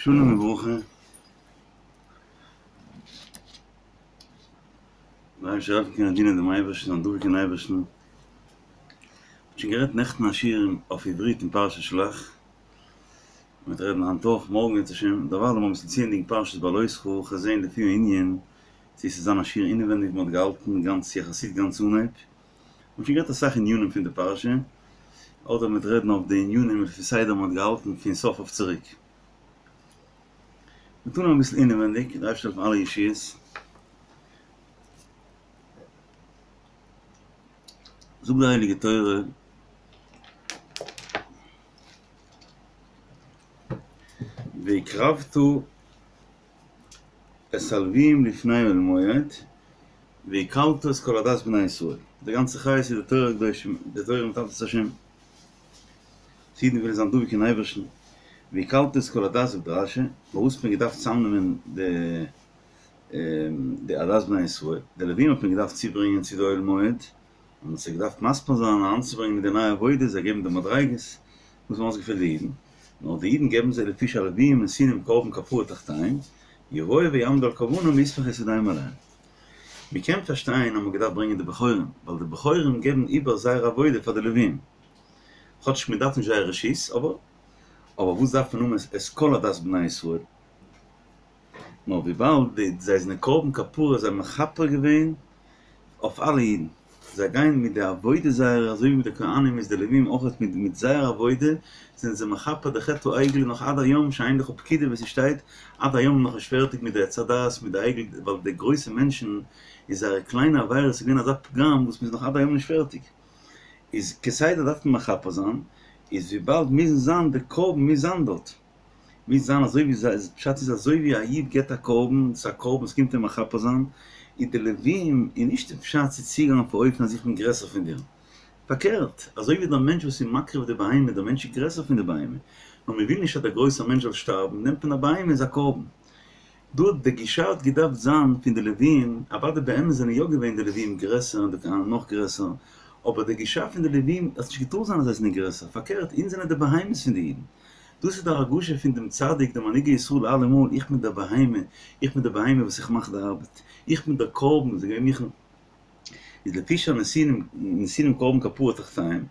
שלום וברכה. דער אייבערשטער זאל העלפן קענען דינען דעם אייבערשטן און דבוק אין אייבערשטן. מ'האט שוין גערעדט נעכטן א שיעור אויף עברית אין פרשת שלח. מ'וועט רעדן היינט אויך, מארגן אם ירצה השם. דערווייל לאמיר אביסל צוענדיגן פרשת בהעלותך, כ'וועל זען לפי הענין צו עס איז זיין א שיעור אינעווענדיג ווי מ'האט געהאלטן גאנץ יחסית גאנץ אנהייב. מ'האט שוין גערעדט אסאך ענינים פון די פרשה, אדער מ'וועט רעדן אויף די ענינים לפי סדר מ'האט געהאלטן פון סוף אויף צוריק. מ'טוט נאר אביסל אינעווענדיג, דער אייבערשטער זאל העלפן אלע ישועות. זאגט די הייליגע תורה, והקרבת את הלוויים לפני אוהל מועד, והקהלת את כל עדת בני ישראל. די גאנצע חיות איז די תורה הקדושה, די תורה מיט עבודת השם. אז אידן ווילן זיין דבוק אין אייבערשטן. והקהלת את כל עדת זאגט רש"י, פארוואס האט מען געדארפט צוזאמנעמען די די עדת בני ישראל? די לווים האט מען געדארפט צוברענגען צו די אוהל מועד, און מ'האט זיי געדארפט מסביר זיין אריינצוברענגען אין די נייע עבודה, זיי געבן די מדריגות, וואס האבן אויסגעפעלט די אידן, נאר די אידן געבן זיי לפי שהלוויים נתונים קרבן כפרה תחתיהם, יבואו ויעמדו על קרבנם ויסמכו את ידיהם עליהם. מ'קען פארשטיין אז מ'האט געדארפט ברענגען די בכורים, ווייל די בכורים געבן איבער זייער עבודה פאר די לווים, כאטש מ'דארף נישט זייער רשות, אבער אבער וואס דארף מען האבן את כל עדת בני ישראל? נאר וויבאלד די זיי זענען קרבן כפרה זיי האבן מכפר געווען אויף אלע אידן, זיי גייען מיט די עבודה זייערע אזוי ווי מיט די כהנים איז די לווים אויך מיט מיט זייער עבודה זענען זיי מכפר די חטא העגל נאך עד היום שאין לך פקידה ווי ס'שטייט עד היום נאך נישט פערטיג מיט די עץ הדעת מיט די עגל ווייל די גרויסע מענטשן איז זייערע קליינע עבירות איז געווען אזא פגם וואס מ'איז נאך עד היום נישט פערטיג איז כסדר דארף מען מכפר זיין איז וויבאלד מוזן זיין די קרבן מוז זיין דארט. מוז זיין אזוי ווי זיי, פשט איז אזוי ווי א איד געבט א קרבן, ס'איז א קרבן ס'קומט אים מכפר זיין, איז די לווים איז נישט די פשט צו צוגיין אויף א אופן אז איך בין גרעסער פון דיר, פארקערט, אזוי ווי דער מענטש וואס איז מקריב די בהמה, דער מענטש איז גרעסער פון די בהמה, נאר מען וויל נישט אז דער גרויסער מענטש זאל שטארבן, נעמט מען א בהמה איז א קרבן. דא די גישה האט געדארפט זיין פון די לווים, אוודאי באמת זענען יא געווען די לווים גרעסער און די כהנים נאך גרעסער, אבער די גישה פון די לווים האט נישט געטארט זיין אז זיי זענען גרעסער, פארקערט אונז זענען די בהמות פון די אידן, דאס איז די הרגשה פון דעם צדיק דער מנהיג ישראל אלעמאל, איך בין דער בהמה, איך בין דער בהמה וואס איך מאך די ארבעט, איך בין דער קרבן, זיי געווען מיכן, איז לפי שהנתינים נתונים קרבן כפרה תחתיהם,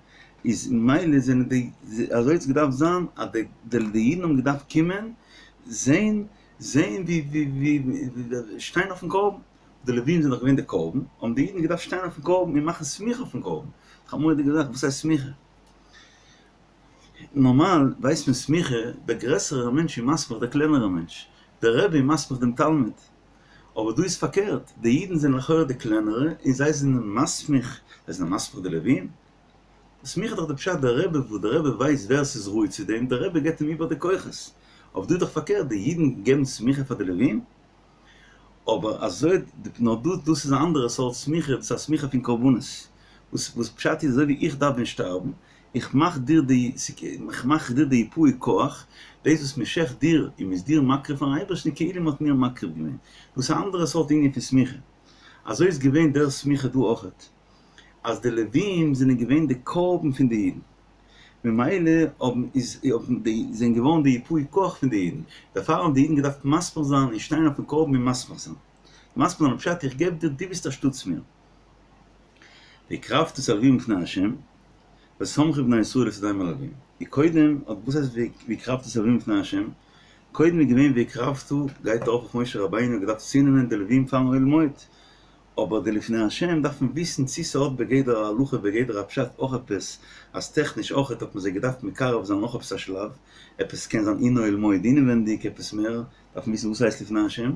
איז מילא זענען די, אזוי האט עס געדארפט זיין אז די די אידן האבן געדארפט קומען זען זען ווי ווי ווי שטיין אויפן קרבן, די לווים זענען דאך געווען די קרבן, האבן די אידן געדארפט שטיין אויפן קרבן און מאכן סמיכה אויפן קרבן, א מורא'דיגע זאך, וואס הייסט סמיכה? נארמאל ווייסט מען סמיכה, דער גרעסערער מענטש איז מסמיך דער קלענערער מענטש, דער רבי איז מסמיך דעם תלמיד, אבער דא איז פארקערט, די אידן זענען לכאורה די קלענערע און זיי זענען מסמיך, זיי זענען מסמיך די לווים? סמיכה איז דאך די פשט דער רבי וואס דער רבי ווייסט ווער ס'איז ראוי צו דעם, דער רבי געבט אים איבער די כוחות, אבער דא איז דאך פארקערט, די אידן געבן סמיכה פאר די לווים? אבער אזוי נאר דא דאס איז א אנדערע סארט סמיכה, דאס איז א סמיכה פון קרבנות, וואס וואס פשט איז אזוי ווי איך דארף ווען שטארבן, איך מאך דיר די איך מאך דיר די יפוי כח, דאס וואס מען שעכט דיר און מען איז דיר מקריב פארן אייבערשטן כאילו מען האט מיר מקריב געווען, דאס איז א אנדערע סארט ענין פון סמיכה, אזוי איז געווען דער סמיכה דא אויכעט, אז די לווים זענען געווען די קרבן פון די אידן. ממילא האבן איז האבן די זענען געווארן די יפוי כח פון די אידן, דערפאר האבן די אידן געדארפט מסמיך זיין און שטיין אויפן קרבן און מסמיך זיין. מסמיך זיין פשט איך געב דיר דו ביסט אנשטאטס מיר. והקרבת את הלווים לפני ה' וסמכו בני ישראל את ידיהם על הלווים. און קודם האט וואס הייסט והקרבת את הלווים לפני ה'? קודם איז געווען והקרבת גייט ארויף אויף משה רבינו האט געדארפט צונעמען די לווים פארן אוהל מועד, אבער די לפני השם דארף מען וויסן צי ס'האט בגדר ההלכה בגדר הפשט אויך עפעס אז טעכניש אויכעט האט מען זיי געדארפט מקרב זיין נאך עפעס א שלב, עפעס קען זיין אין אוהל מועד אינעווענדיג עפעס מער, דארף מען וויסן וואס הייסט לפני השם,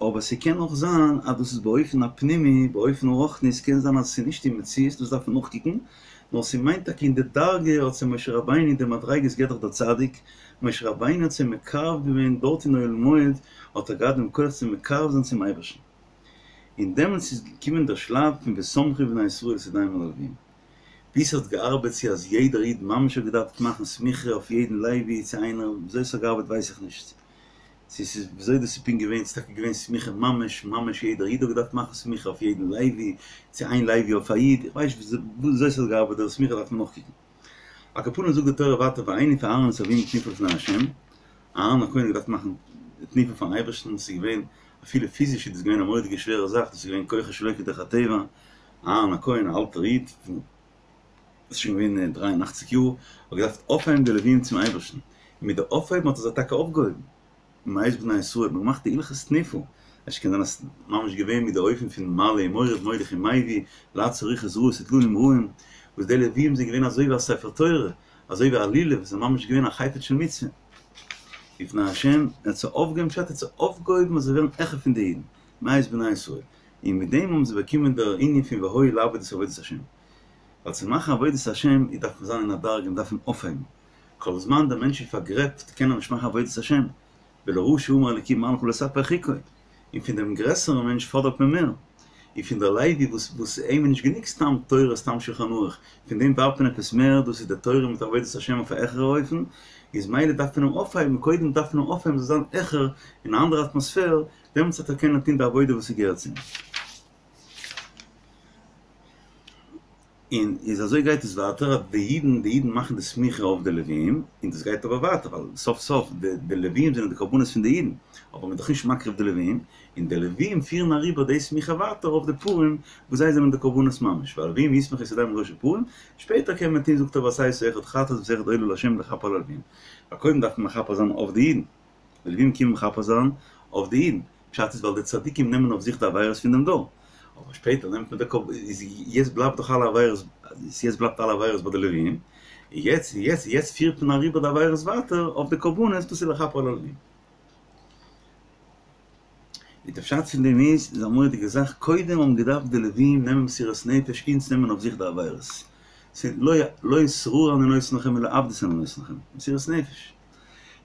אבער ס'קען אויך זיין אז דאס איז באופן הפנימי באופן הרוחני ס'קען זיין אז ס'איז נישט אין מציאות דאס דארף מען נאכקוקן, נאר ס'מיינט טאקע אין די דרגה האט זיי משה רבינו די מדריגות געבט דאך דער צדיק, משה רבינו האט זיי מקרב געווען דארט אין אוהל מועד האט ער געהאט דעם כח צו מקרב זיין צום אייבערשטן. און דעמאלטס איז געקומען דער שלב פון וסמכו בני ישראל את ידיהם על הלווים. ווי ס'האט געארבעט צו אז יעדער איד ממש האט געדארפט מאכן סמיכה אויף יעדן לוי צו איינער, וויאזוי ס'האט געארבעט ווייס איך נישט. צו ס'איז וויאזוי דאס איז פונקט געווען, ס'איז טאקע געווען סמיכה ממש ממש יעדער איד האט געדארפט מאכן סמיכה אויף יעדן לוי, צו איין לוי אויף א איד, איך ווייס נישט וויאזוי ס'האט געארבעט דער סמיכה דארף מען נאכקוקן. על כל פנים זאגט די תורה ווייטער והניף אהרן את הלוים תנופה לפני ה'. אהרן הכהן האט געדארפט מאכן די תנופה פארן אייבערשטן, ס'איז געווען, אפילו פיזיש איז דאס געווען א מורא'דיגע שווערע זאך, דאס איז געווען כוחות שלא כדרך הטבע, אהרן הכהן א אלטער איד פון איז שוין געווען 83 יאר, האט געדארפט אויפהייבן די לווים צום אייבערשטן, און מיט די אויפהייבן האט ער זיי טאקע אויפגעהויבן, מאת בני ישראל האט מען געמאכט די הלכות תנופה, עס קען זיין אז ממש געווען מיט די אופן פון מעלה ומוריד מוליך ומביא, לעצור רוחות רעות וטלנים רעים, וואס די לווים זענען געווען אזוי ווי א ספר תורה, אזוי ווי א לולב, זיי זענען ממש געווען א חפץ של מצוה. לפני השם, ער האט זיי אויפגעהויבן פשט ער האט זיי אויפגעהויבן אז זיי ווערן העכער פון די אידן, מאת בני ישראל, און מיט דעם האבן זיי באקומען דער ענין פון והיו לעבוד את עבודת השם. ווייל צו מאכן עבודת השם איז דארף מען זיין אין א דרגה, מען דארף אים אויפהייבן. כל זמן דער מענטש איז פארגרעבט קען ער נישט מאכן עבודת השם, ולרשע אמר אלקים מה לך לספר חקו, און פון דעם גרעסערן מענטש פאדערט מען מער, און פון דער לוי וואס וואס אים איז נישט גענוג סתם תורה סתם שולחן ערוך, פון דעם דארף מען עפעס מער, דאס איז די תורה מיט עבודת השם אויף א העכערע אופן, איז מילא דארף מען אים אויפהייבן, קודם דארף מען אים אויפהייבן זאל זיין העכער, אין א אנדערע אטמאספער, דעמאלטס וועט ער קענען טון די עבודה וואס ס'געהערט צו אים. און איז אזוי גייט עס ווייטער אז די אידן די אידן מאכן די סמיכה אויף די לווים, און דאס גייט אבער ווייטער ווייל סוף סוף די די לווים זענען די קרבנות פון די אידן, אבער מען איז דאך נישט מקריב די לווים, און די לווים פירן אריבער די סמיכה ווייטער אויף די פרים וואס זיי זענען די קרבנות ממש, והלווים יסמכו את ידיהם על ראש הפרים, שפעטער קען מען טון זאגט ער ועשה אותו אחד חטאת ואת האחד עולה לה' לכפר על הלווים, ווייל קודם דארף מען מכפר זיין אויף די אידן, די לווים קומען מכפר זיין אויף די אידן. פשט איז ווייל די צדיקים נעמען אויף זיך די עבירות פון דעם דור, אבער שפעטער נעמט מען די קרבן, איז יעצט בלייבט דאך אלע עבירות, יעצט בלייבט אלע עבירות ביי די לווים, און יעצט יעצט יעצט פירט מען אריבער די עבירות ווייטער אויף די קרבנות, דאס איז לכפר על הלווים. און די פשט פון דעם איז, איז א מורא'דיגע זאך, קודם האבן געדארפט די לווים נעמען מסירות נפש אונז נעמען אויף זיך די עבירות, ס'איז לא לא שררה אני נותן לכם אלא עבדות אני נותן לכם, מסירות נפש.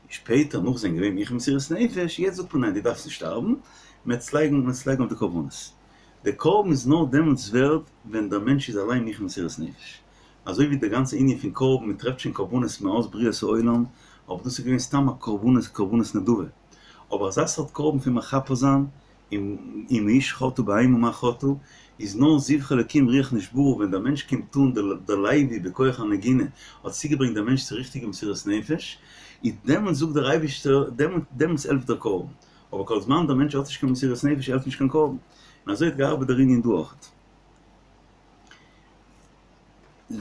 שפעטער נאך זענען געווען מוכן מסירות נפש, יעצט זאגט מען ניין דו דארפסט נישט שטארבן, מ'עט עס לייגן מ'עט עס לייגן אויף די קרבנות. די קרבן איז נאר דעמאלטס ווערד ווען דער מענטש איז אליין מוכן מסירות נפש. אזוי ווי די גאנצע ענין פון קרבן, מען טרעפט שוין קרבנות מאז בריאת העולם, אבער דאס איז געווען סתם א קרבנות קרבנות נדבה. אבער אזא סארט קרבן פון מכפר זיין, אם האיש חטא בהמה מה חטאה, איז נאר זבחי אלקים רוח נשברה ווען דער מענטש קומט אן דער לוי בכח הנגינה האט צוגעברענגט דעם מענטש צו ריכטיגע מסירות נפש, איז דעמאלטס זאגט דער אייבישטער דעמאלטס העלפט דער קרבן, אבער כל זמן דער מענטש האט נישט קיין מסירות נפש העלפט נישט קיין קרבן, און אזוי האט געארבעט דער ענין דא אויכעט.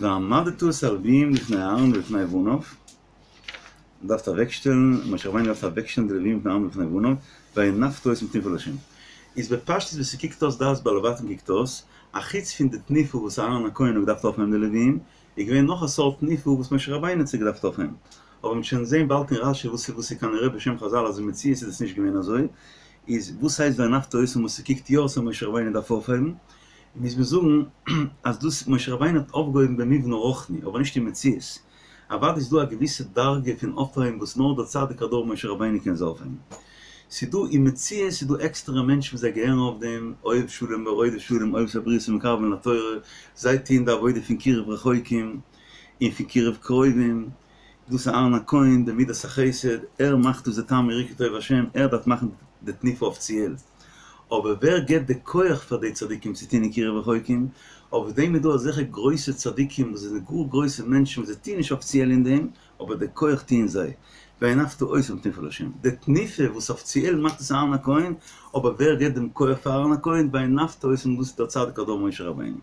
והעמדת את הלוויים לפני אהרן ולפני בניו. מען דארף אוועקשטעלן, משה רבינו דארף אוועקשטעלן די לווים לפני אהרן ולפני בניו, והנפת אותם תנופה לה'. איז בפשטות ווי ס'קוקט אויס דעת בעלי בתים קוקט אויס, א חוץ פון די תנופה וואס אהרן הכהן האט געדארפט אויפהייבן די לווים, איז געווען נאך א סארט תנופה וואס משה רבינו האט זיי געדארפט אויפהייבן. אבער מ'וועט שוין זען באלד אין רשי וואס וואס איז כנראה בשם חזל אז אין מציאות איז עס נישט געווען אזוי, איז וואס הייסט והנפת אותם וואס ס'קוקט יא אויס אז משה רבינו דארף אויפהייבן, מוז מען זאגן אז דאס משה רבינו האט אויפגעהויבן במובן הרוחני אבער נישט אין מציאות. אוודאי איז דא א געוויסע דרגה פון אויפהייבן וואס נאר דער צדיק הדור משה רבינו קען זיי אויפהייבן. ס'איז דא אין מציאות איז דא עקסטערע מענטשן וואס זיי געהערן אויף דעם, אוהב שלום ורודף שלום, אוהב את הבריות ומקרבן לתורה, זיי טוען די עבודה פון קירוב רחוקים און פון קירוב קרובים, דאס איז אהרן הכהן, די מידת החסד, ער מאכט דאס די טעמי יראה כי טוב השם, ער דארף מאכן די תנופה אפיציעל. אבער ווער געבט די כח פאר די צדיקים צו טון אין קירוב רחוקים? אויף דעם איז דא אזעלכע גרויסע צדיקים וואס זענען גאר גרויסע מענטשן וואס זיי טוען נישט אפיציעל אין דעם, אבער די כח טוען זיי. והנפת אותם תנופה לה'. די תנופה וואס אפיציעל מאכט עס אהרן הכהן, אבער ווער געבט דעם כח פאר אהרן הכהן? והנפת אותם דאס איז דער צדיק הדור משה רבינו.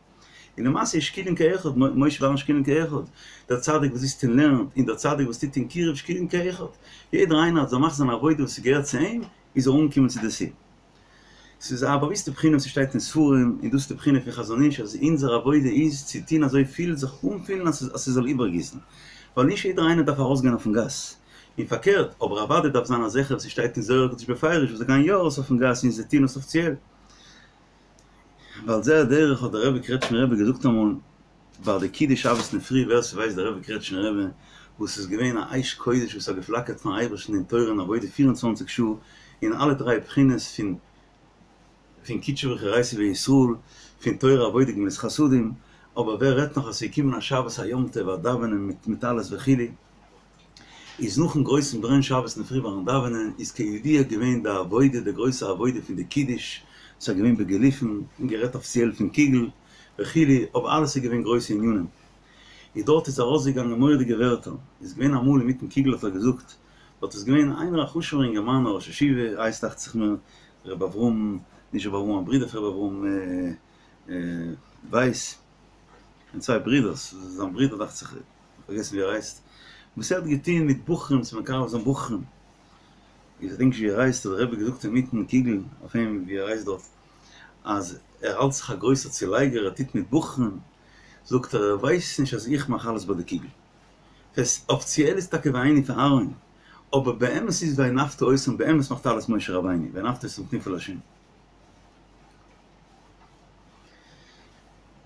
און למעשה איז שקולין כאחד, משה ואהרן שקולין כאחד, דער צדיק וואס זיצט און לערנט, און דער צדיק וואס טוט אין קירוב שקולין כאחד. יעדער איינער האט זיך מאכט זיין עבודה וואס ס'געהערט צו אים, איז ער אנגעקומען צו די ציל. ס'איז א באוויסטע בחינה וואס ס'שטייט אין ספרים, און דאס איז די בחינה פון חזון איש אז אונזער עבודה איז צו טון אזוי פיל זיך אנפילן אז ס'זאל איבערגיסן. ווייל נישט יעדער איינער דארף ארויסגיין אויפן גאס. און פארקערט, אבער אוודאי דארף זיין אזעלכע וואס ס'שטייט אין זוהר הקדוש בפירוש וואס זיי גייען יא ארויס אויפן גאס און זיי טוען עס אפיציעל. ועל זה הדרך האט דער רבי קרעטשנער רבי געזאגט אמאל ביי די קידוש שבת אינדערפרי ווער ס'ווייסט דער רבי קרעטשנער רבי וואס איז געווען א אש קודש וואס האט געפלאקערט פארן אייבערשטן אין תורה און עבודה 24 שעה אין אלע דריי בחינות פון פון קודשא בריך הוא אורייתא וישראל פון תורה עבודה גמילות חסדים אבער ווער רעדט נאך אז ס'איז געקומען א שבת א יום טוב א דאווענען מיט מיט אלעס וכו' איז נאכן גרויסן ברען שבת אינדערפרי ביים דאווענען איז כידוע געווען די עבודה די גרויסע עבודה פון די קידוש ס'איז געווען בגילופין און גערעדט אפיציעל פון קוגל וכו' אבער אלעס איז געווען גרויסע ענינים איז דארט איז ארויסגעגאנגען מורא'דיגע ווערטער איז געווען אמאל אינמיטן קוגל האט ער געזאגט. דארט איז געווען איינער א חשוב'ער אינגערמאן א ראש ישיבה, הייסט דאכט זיך מיר ר' אברהם, נישט ר' אברהם, א ברודער פון ר' אברהם ווייס, און צוויי ברודערס, זיין ברודער דאכט זיך, פארגעסן ווי ער הייסט, וואס ער האט געטון מיט בחורים צו מקרב זיין בחורים, איך געדענק נישט ווי ער הייסט, האט דער רבי געזאגט אינמיטן קוגל אויף אים ווי ער הייסט דארט, אז ער האלט זיך א גרויסער צולייגער, ער טוט מיט בחורים, זאגט ער, ער ווייסט נישט אז איך מאך אלעס ביי די קוגל. ס'הייסט, אפיציעל איז טאקע והניף אהרן, אבער באמת איז והנפת אותם, באמת מאכט אלעס משה רבינו, והנפת אותם תנופה לה'.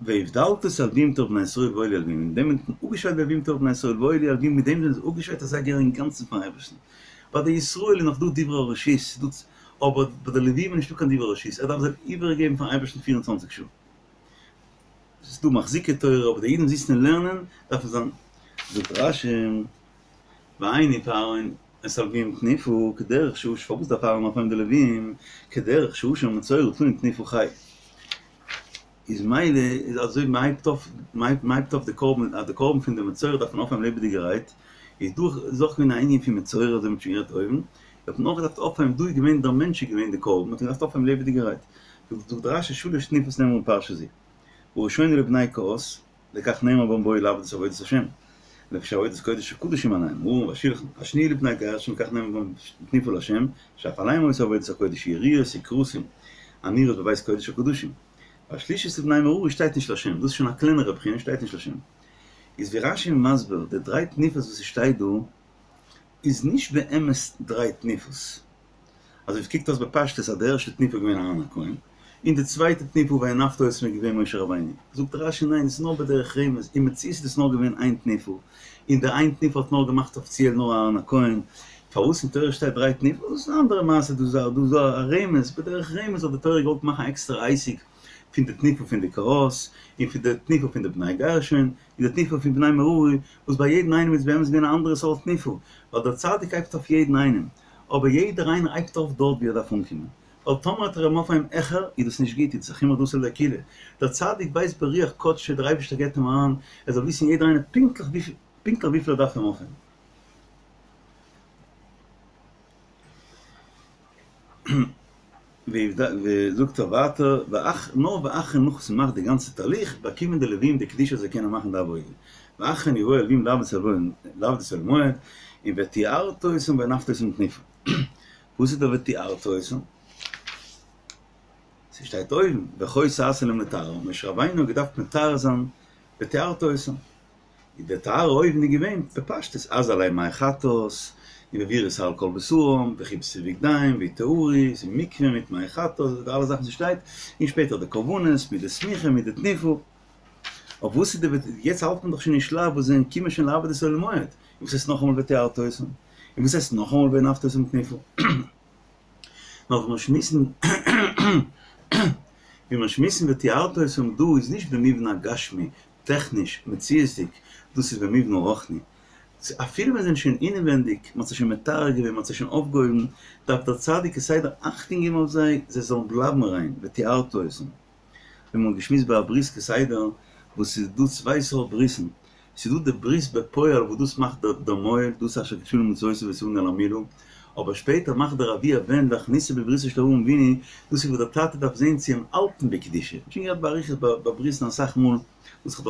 והבדלת את הלוים מתוך בני ישראל והיו לי ללוים, מיט דעם האט מען אפגעשיידט די לוים מתוך בני ישראל והיו לי ללוים, מיט דעם זענען זיי אפגעשיידט אז זיי געהערן אינגאנצן פארן אייבערשטן. ביי די ישראל איז נאך דא דברי הרשות, אבער ביי די לווים איז נישטא קיין דברי רשות, ער דארף זיי איבערגעבן פארן אייבערשטן פיר און צוואנציג שעה. ס'איז דא מחזיקי תורה אבער די אידן זיצן און לערנען דארפן זיין זאגט רש"י והניף אהרן את הלוים תנופה כדרך שהאשם פארוואס דארף אהרן אויפהייבן די לווים כדרך שהאשם המצורע טעון תנופה חי איז מילא איז אזוי מ'הייבט אויף מ'הייבט אויף די קרבן אז די קרבן פון די מצורע דארף מען אויפהייבן לעבעדיגערהייט איז דא איז אויך געווען א ענין פון מצורע אזוי מ'האט שוין גערעדט אויבן האט מען אויך געדארפט אויפהייבן דא איז געווען דער מענטש איז געווען די קרבן האט מען געדארפט אויפהייבן לעבעדיגערהייט זאגט רש"י שלש תנופות נאמרו בפרשה זו, הראשונה לבני קהת, לכך נאמר בם בואו לעבוד את עבודת השם, לפי שעבודת קודש הקדשים עליהם, הארון והשלחן, השניה לבני גרשון לכך נאמר בם תנופה להשם, שאף עליהם היתה עבודת הקודש, יריעות וכרסים, הנראות בבית קודש הקדשים. והשלישית לבני מררי שטייט נישט להשם, דאס איז שוין א קלענערע בחינה שטייט נישט להשם. איז ווי רש"י מסביר, די דריי תנופות וואס ס'שטייט דא, איז נישט באמת דריי תנופות. אזוי ווי ס'קוקט אויס בפשטות אז די ערשטע תנופה איז געווען אהרן הכהן, און די צווייטע תנופה והנפת אותם איז געווען משה רבינו. זאגט רש"י ניין, עס איז נאר בדרך רמז, אין מציאות איז דאס נאר געווען איין תנופה, און די איין תנופה האט נאר געמאכט אפיציעל נאר אהרן הכהן. פארוואס אין תורה שטייט דריי תנופות? דאס איז א אנדערע מעשה, דאס איז א רמז, בדרך רמז האט די תורה געוואלט מאכן א עקסטערע עסק פון די תנופה פון די קהת, און פון די תנופה פון די בני גרשון, און די תנופה פון בני מררי, וואס ביי יעדן איינעם איז באמת געווען א אנדערע סארט תנופה, ווייל דער צדיק הייבט אויף יעדן איינעם, אבער יעדער איינער הייבט אויף דארט ווי ער דארף אנקומען, ווייל טאמער וועט ער אים אויפהייבן העכער איז דאס נישט גוט, איז דאס א חומרא דאתי לידי קולא, דער צדיק ווייסט ברוח קדשו דער אייבערשטער געבט אים אריין, ער זאל וויסן יעדער איינער פונקטליך פונקטליך וויפיל ער דארף אים אויפהייבן. זאגט ער ווייטער, נאר ואחרי נאך וואס מ'מאכט די גאנצע תהליך, באקומען די לווים די קדושה אז זיי קענען מאכן די עבודה, ואחרי כן יבואו הלווים לעבוד את אוהל מועד, און וטהרת אותם והנפת אותם תנופה. וואס איז דער וטהרת אותם? ס'שטייט אויבן, וכה תעשה להם לטהרם, משה רבינו האט געדארפט מטהר זיין וטהרת אותם. איז די טהרה אויבן איז געווען בפשטות הזה עליהם מי חטאת, און והעבירו את שער על כל בשרם, וכבסו בגדיהם, ויטהרו, ס'איז מקווה מיט מי חטאת, די אלע זאכן וואס שטייט, און שפעטער די קרבנות מיט די סמיכה מיט די תנופה. אויף וואס איז די וט יעצט האלט מען דאך שוין אין שלב וואס זיי קומען שוין לעבוד את אוהל מועד, און וואס הייסט נאכאמאל וטהרת אותם? און וואס הייסט נאכאמאל והנפת אותם תנופה? נאר ווי מיר שמועסן ווי מיר שמועסן וטהרת אותם דא איז נישט במובן הגשמי, טעכניש, מציאות'דיג, דאס איז במובן הרוחני. אפילו ווען זיי זענען שוין אינעווענדיג, מען האט זיי שוין מטהר געווען, מען האט זיי שוין אויפגעהויבן, דארף דער צדיק כסדר אכטונג געבן אויף זיי, זיי זאלן בלייבן ריין, וטהרת אותם. ווי מען האט געשמועסט ביי א ברית כסדר, וואס ס'איז דא צוויי סארט ברית'ן, ס'איז דא די ברית בפועל וואס דאס מאכט דער מוהל, דאס אשר קדשנו במצותיו וצונו על המילה, אבער שפעטער מאכט דער אבי הבן והכניסו בבריתו של אברהם אבינו, דאס איז וואס דער טאטע דארף זען צו אים האלטן בקדושה, מ'האט שוין גערעדט באריכות ביי ברית'ן אסאך מאל, וואס כ'האב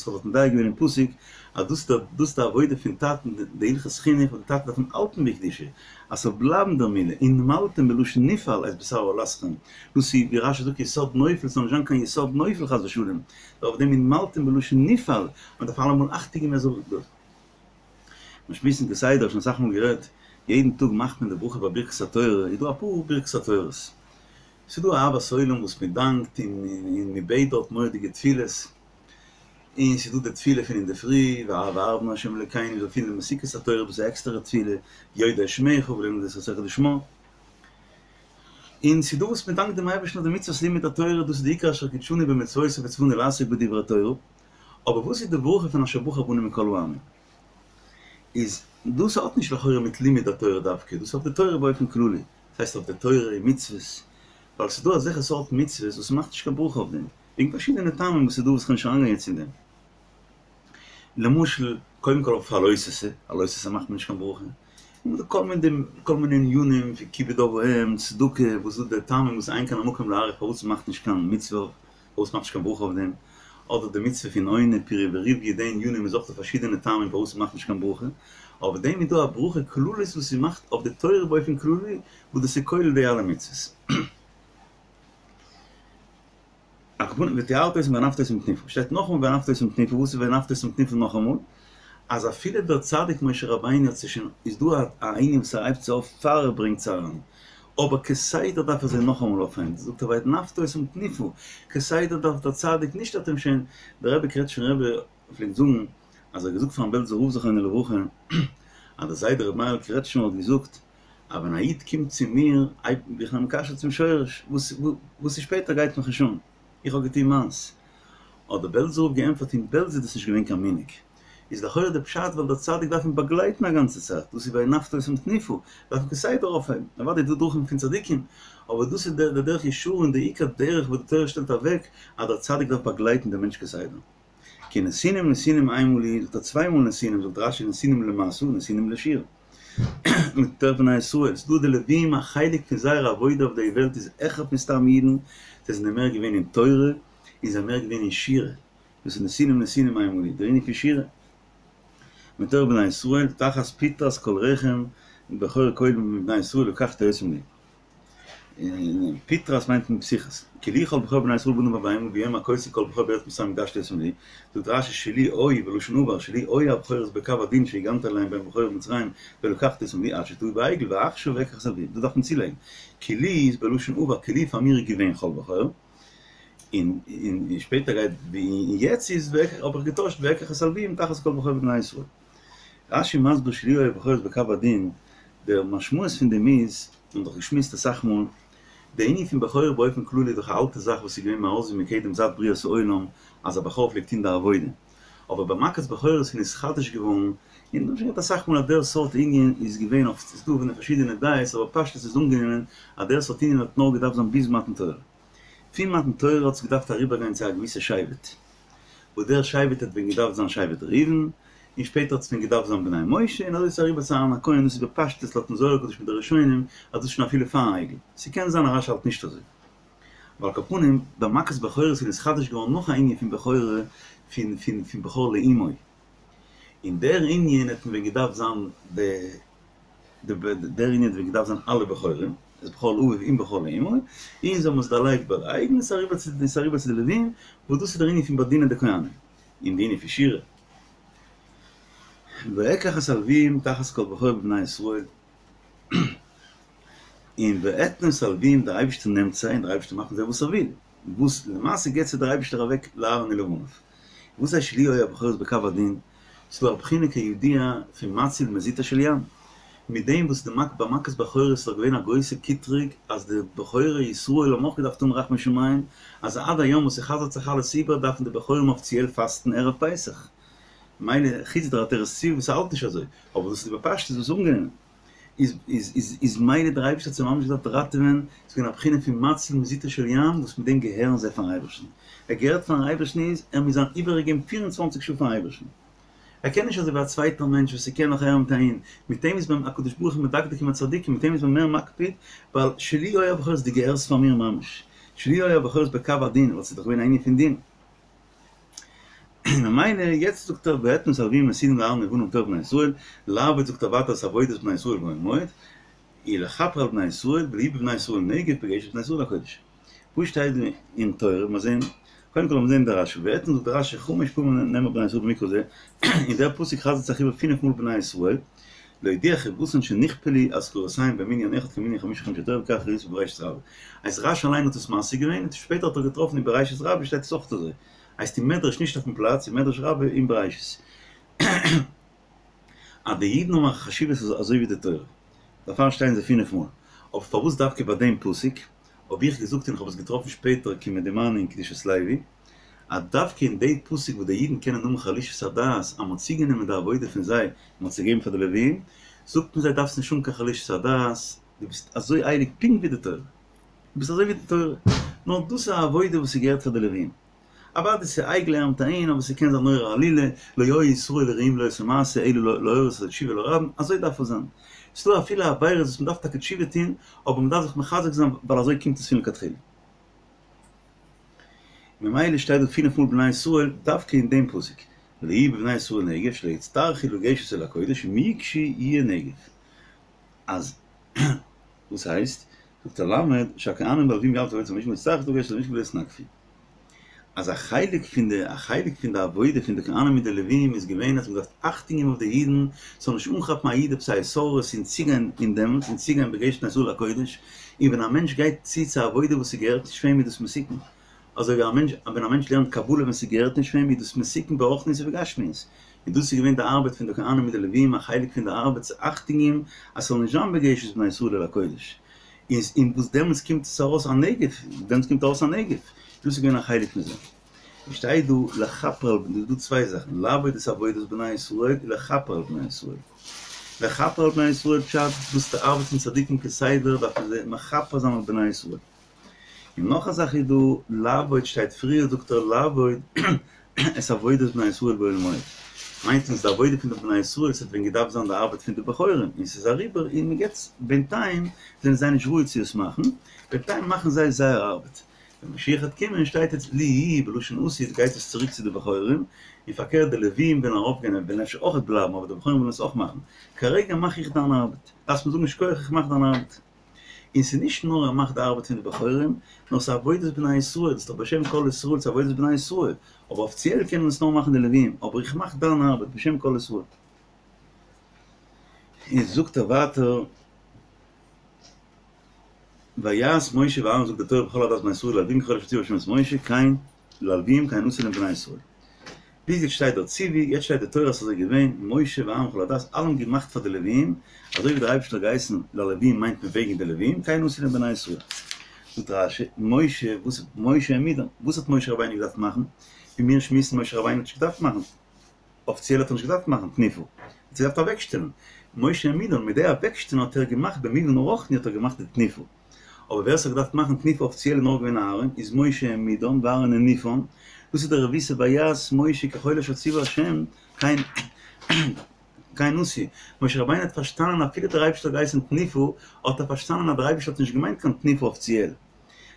דארט מדייק געווען אין פסוק, אז דאס איז די עבודה פון טאטן, די הלכות חינוך וואס די טאטע דארף אים האלטן בקדושה, אז ס'זאל בלייבן דער מילה, ונמלתם בלשון נפעל את בשר ערלתכם, דאס איז ווי רש"י זאגט יסוד נופל, ס'זאל נישט זיין קיין יסוד נופל חס ושלום, נאר אויף דעם ונמלתם בלשון נפעל, מ'דארף אלעמאל אכטונג געבן ער זאל. מיר שמועסן כסדר, שוין אסאך מאל גערעדט, יעדן טאג מאכט מען די ברכה ביי ברכת התורה, איז דא אפאר ברכת התורות, ס'איז דא אהבת עולם וואס מען דאנקט און און מען בעט דארט מורא'דיגע תפילות, און ס'איז דא די תפילה פון אינדערפרי, והערב נא ה' אלוקינו זאל פירן די מתיקות התורה וואס איז א עקסטערע תפילה, יודעי שמך ולומדי תורתך לשמה, און ס'איז דא וואס מען דאנקט דעם אייבערשטן אויף די מצוות לימוד התורה, דאס איז די עיקר אשר קדשנו במצוותיו וצונו לעסוק בדברי תורה, אבער וואס איז די ברכה פון אשר בחר בנו מכל העמים? איז דאס האט נישט לכאורה מיט לימוד התורה דווקא, דאס איז אויף די תורה באופן כללי, דאס הייסט אויף די תורה און מצוות, ווייל ס'איז דא אזעלכע סארט מצוות וואס מ'מאכט נישט קיין ברכה אויף דעם, וועגן פארשידענע טעמים וואס איז דא וואס כ'וועל נישט אריינגיין יעצט אין דעם. למשל, קודם כל אויף א לא תעשה, א לא תעשה מאכט מען נישט קיין ברכה. און דא קומען די כל מיני ענינים פון כיבוד אב ואם, צדקה, וואס איז די טעמים וואס אין כאן המקום להאריך פארוואס מ'מאכט נישט קיין מצוה, פארוואס מ'מאכט נישט קיין ברכה אויף דעם, אדער די מצוה פון עונה פריה ורביה, די ענינים איז אויך דא פארשידענע טעמים פארוואס מ'מאכט נישט קיין ברכה, אויף דעם איז דא א ברכה כללית וואס מ'מאכט אויף די תורה באופן כללי, וואס דאס איז כולל די אלע מצוות. על כל פנים וטהרת אותם והנפת אותם תנופה, שטייט נאכאמאל והנפת אותם תנופה, וואס איז והנפת אותם תנופה נאכאמאל? אז אפילו דער צדיק משה רבינו האט זיך שוין, איז דא א ענין וואס ער הייבט זיי אויף פאר ער ברענגט זיי אריין, אבער כסדר דארף ער זיי נאכאמאל אויפהייבן, זאגט ער והנפת אותם תנופה, כסדר דארף דער צדיק נישט האט אים שוין, דער רבי קרעטשניפער רבי פלעגט זאגן אז ער האט געזאגט פארן בעלזער רב זכרונו לברכה אז דער זיידע רבי מאיר'ל קרעטשמער האט געזאגט אז ווען א איד קומט צו מיר בין איך אים מקשר צום שורש, וואס איז שפעטער גייט מיך נישט אן, איך האב געטון מיינס. האט דער בעלזער רב געענטפערט אין בעלז איז דאס נישט געווען קיין מנהג, איז לכאורה די פשט ווייל דער צדיק דארף אים באגלייטן א גאנצע צייט, דאס איז והנפת אותם תנופה, דארף אים כסדר אויפהייבן, אוודאי איז דא דרכים פון צדיקים, אבער דאס איז דער דרך ישרה און די עיקר דרך וואס די תורה שטעלט אוועק אז דער צדיק דארף באגלייטן דעם מענטש כסדר. כי נתינים נתינים המה לי, זאגט ער צוויי מאל נתינים, זאגט רש"י נתינים למשא נתינים לשיר. מתוך בני ישראל, ס'דא די לווים א חלק פון זייער עבודה אויף די וועלט איז העכער פון סתם אידן, זיי זענען מער געווען אין תורה, און זיי זענען מער געווען אין שירה, דאס איז נתינים נתינים המה לי, דער ענין פון שירה. מתוך בני ישראל, תחת פטרת כל רחם, בכור כל מבני ישראל לקחתי אותם לי. פטרת מיינט מען פתיחת. כי לי כל בכור בני ישראל באדם ובבהמה וביום הכותי כל בכור בארץ מצרים הקדשתי אותם לי. זאגט רש"י שלי היו בלשון עבר שלי היו הבכורות בקו הדין שהגנתי עליהם בהם בכורי מצרים ולקחתי אותם לי עד שטעו בעגל ועכשיו אקח את הלוים. דא דארף מען צולייגן. כי לי איז בלשון עבר כי לי פאר מיר איז געווען כל בכור. און שפעטער גייט און יעצט איז האב איך געטוישט ואקח את הלוים תחת כל בכור בבני ישראל. רש"י מסביר שלי היו הבכורות בקו הדין, דער משמעות פון דעם איז, מיר האבן דאך געשמועסט אסאך מאל, די ענין פון בכור באופן כללי איז דאך א אלטע זאך וואס איז געווען מאז ומקדם זייט בריאת העולם אז א בכור פלעגט טון די עבודה, אבער ביי מכת בכורות איז נתחדש געווארן, און מיר האבן שוין געהאט אסאך מאל אז דער סארט ענין איז געווען אויף, ס'איז דא פון פארשידענע דעות אבער פשטות איז אנגענומען אז דער סארט ענין האט נאר געדארפט זיין ביז מתן תורה. פון מתן תורה האט עס געדארפט אריבערגיין צו א געוויסע שבט, וואס דער שבט האט ווען געדארפט זיין שבט ראובן, און שפעטער האט עס ווען געדארפט זיין בני משה, און אזוי איז עס אריבער צו אהרן הכהן, דאס איז בפשטות לויטן זוהר הקדוש מיט די ראשונים, אז דאס איז שוין אפילו פארן עגל. ס'קען זיין אז רש"י האלט נישט אזוי. אבער על כל פנים, ביי מכת בכורות איז נתחדש געווארן נאך א ענין פון בכורה פון פון פון בכור לאמו, און דער ענין האט מען ווען געדארפט זיין די. דער ענין האט ווען געדארפט זיין אלע בכורים, איז בכור לאביו און בכור לאמו, און זיי האבן עס דערלייגט ביי די אייגענע, ס'איז אריבער צו ס'איז אריבער צו די לווים, וואס דאס איז דער ענין פון באדינען די כהנים, און די ענין פון שירה. ואקח את הלוויים תחת כל בכור בבני ישראל, און ואתנה את הלוויים, דער אייבערשטער נעמט זיי און דער אייבערשטער מאכט מיט זיי וואס ער וויל, וואס למעשה געבט זיי דער אייבערשטער אוועק לאהרן ולבניו. וואס הייסט שלי היו הבכורות בקו הדין? ס'איז דא א בחינה כידוע פון מציל מזוטו של ים. מיט דעם וואס די מק ביי מכת בכורות איז דאך געווען א גרויסע קטרוג אז די בכורי ישראל האבן אויך געדארפט האבן רחמי שמים, אז עד היום וואס ס'חזר'ט זיך אלעס איבער דארפן די בכורים אפיציעל פאסטן ערב פסח. מילא חוץ דער עטרת צבי וואס האלט נישט אזוי, אבער דאס איז בפשטות וואס אנגענומען. איז איז איז איז מילא דער אייבערשטער האט זיי ממש געדארפט ראטעווען, ס'איז געווען א בחינה פון מציל מזוטו של ים וואס מיט דעם געהערן זיי פארן אייבערשטן, ער געהערט פארן אייבערשטן איז ער מוז זיין איבערגעגעבן פיר און צוואנציג שעה פארן אייבערשטן, ער קען נישט אזוי ווי א צווייטער מענטש וואס ס'קען נאך אהער מיט אהין, מיט אים איז מען הקדוש ברוך הוא מדקדק עם הצדיקים, מיט אים איז מען מער מקפיד, ווייל שלי היו הבכורות דו געהערסט פאר מיר ממש, שלי היו הבכורות בקו הדין, ווייל ס'איז דאך געווען א ענין פון דין. און ממילא יעצט זאגט ער ואתנה את הלוים נתינים לאהרן ולבניו מתוך בני ישראל, לעבוד זאגט ער ווייטער את עבודת בני ישראל באהל מועד, ולכפר על בני ישראל ולהיו בבני ישראל נגף בגשת בני ישראל אל הקודש. וואו שטייט דא אין תורה? מיר זעהן, קודם כל לאמיר זעהן די רשי, ואתנה זאגט די רשי חמש פעמים נאמר בני ישראל במקרא זה, און דער פסוק חזר'ט זיך איבער פינף מאל בני ישראל, להודיע חיבתן שנכפלו אזכרותיהם במנין אחד כמנין חמשה חומשי תורה וכך ראיתי בבראשית רבה. הייסט רשי אליין האט עס משיג געווען און שפעטער האט ער געטראפן אין בראשית רבה שטייט עס אויך אזוי. הייסט אין מדרש נישט אויפן פלאץ, אין מדרש רבה אין בראשית. אז די אידן האבן א חשיבות אזוי ווי די תורה. דערפאר שטייען זיי פינף מאל. אבער פארוואס דווקא ביי דעם פסוק האב איך געזאגט און איך האב עס געטראפן שפעטער כמדומני אין קדושת לוי, אז דווקא אין די פסוק וואס די אידן קענען האבן חלישות הדעת אז מ'האט צוגענומען די עבודה פון זיי און מ'האט עס געגעבן פאר די לוויים, זאגט מען זיי דארפסט נישט האבן קיין חלישות הדעת, דו ביסט אזוי הייליג פונקט ווי די תורה, דו ביסט אזוי ווי די תורה, נאר דאס איז א עבודה וואס ס'געהערט פאר די לוויים. אוודאי ס'איז עגל אהין אבער ס'קען זיין נורא עלילה, לא היו ישראל ראויים לאותו מעשה אלא להורות על התשובה לרבים, אזוי דארף עס זיין. ס'דא אפילו עבירות וואס מ'דארף טאקע תשובה טון, אבער מ'דארף זיך מחזק זיין ווייל אזוי קומט עס פון לכתחילה. ממילא שטייט דא פינף מאל בני ישראל דווקא אין דעם פסוק, לא יהיה בבני ישראל נגף שלא יצטרכו לגשת אל הקודש אם יגשו יהיה נגף. אז וואס הייסט? זאגט דער למד שהכהנים והלווים יעבדו עבודת המשכן יצטרכו לגשת אל המשכן ולא יתנגפו. אז א חלק פון די א חלק פון די עבודה פון די כהנים מיט די לווים איז געווען אז מ'דארף אכטונג געבן אויף די אידן ס'זאל נישט אנכאפן א איד עפעס א התעוררות און צוגיין אין דעמאלטס און צוגיין בגשת בני ישראל לקודש, און ווען א מענטש גייט צו צו א עבודה וואס ס'געהערט נישט פאר אים איז דאס מסוכן, אזוי ווי א מענטש ווען א מענטש לערנט קבלה ווען ס'געהערט נישט פאר אים איז דאס מסוכן ברוחניות ובגשמיות, און דאס איז געווען די ארבעט פון די כהנים מיט די לווים א חלק פון די ארבעט צו אכטונג געבן אז ס'זאל נישט זיין בגשת בני ישראל אל הקודש. איז אין וואס דעמאלטס קומט עס ארויס א נגף, דעמאלטס קומט ארויס א נגף, דאס איז געווען א חלק פון זה. עס שטייט דא לכפר על בני, דא צוויי זאכן, לעבוד את עבודת בני ישראל און לכפר על בני ישראל. לכפר על בני ישראל פשט, דאס איז די ארבעט פון צדיקים כסדר דארף מען זיי מכפר זיין אויף בני ישראל. און נאך א זאך איז דא, לעבוד שטייט פריער זאגט ער לעבוד את עבודת בני ישראל באוהל מועד, מיינט אונז די עבודה פון די בני ישראל ס'האט ווען געדארפט זיין די ארבעט פון די בכורים און ס'איז אריבער און מ'געט בינתיים זענען זיי נישט ראוי צו עס מאכן, בינתיים מאכן זיי זייער ארבעט, ווען משיח וועט קומען שטייט עס לי יהי' בלשון עתיד גייט עס צוריק צו די בכורים, און פארקערט די לווים וועלן ארויפגיין און וועלן אפשר אויכעט בלייבן אבער די בכורים וועלן עס אויך מאכן, כרגע מאך איך דיין ארבעט, דארפסט מיר זאגן שכוח איך מאך דיין ארבעט. און ס'איז נישט נאר ער מאכט די ארבעט פון די בכורים, נאר ס'איז עבודת בני ישראל, ס'איז דאך בשם כל ישראל, ס'איז עבודת בני ישראל, אבער אפיציעל קענען עס נאר מאכן די לוויים, אבער איך מאך דיין ארבעט בשם כל ישראל. און זאגט ער ווייטער, ויעש משה ואהרן זאגט די תורה בכל עדת בני ישראל ללווים ככל אשר ציווה ה' את משה כן ללווים כן עשו להם בני ישראל. ביז יעצט שטייט דער ציווי, יעצט שטייט די תורה אז ס'איז אזוי געווען, משה ואהרן וכל העדה, אלע האבן געמאכט פאר די לוויים, אזוי ווי דער אייבערשטער האט געהייסן ללווים מיינט מען וועגן די לוויים, כן עשו להם בני ישראל. זאגט רש"י, משה, וואס משה העמידן, וואס האט משה רבינו געדארפט מאכן? ווי מיר שמועסן משה רבינו האט נישט געדארפט מאכן, אפיציעל האט ער נישט געדארפט מאכן תנופה, ער האט געדארפט אוועקשטעלן, משה העמידן, מיט די אוועקשטעלן האט ער געמאכט במובן הרוחני האט ער געמאכט די תנופה. אבער ווער ס'האט געדארפט מאכן תנופה אפיציעל איז נאר געווען אהרן, איז משה העמידן ואהרן הניפן, דאס איז די רבותא ויעש משה ככל אשר ציווה השם, כן כן עשו, משה רבינו האט פארשטאנען אפילו דער אייבערשטער האט געהייסן תנופה, האט ער פארשטאנען אז דער אייבערשטער האט נישט געמיינט קיין תנופה אפיציעל,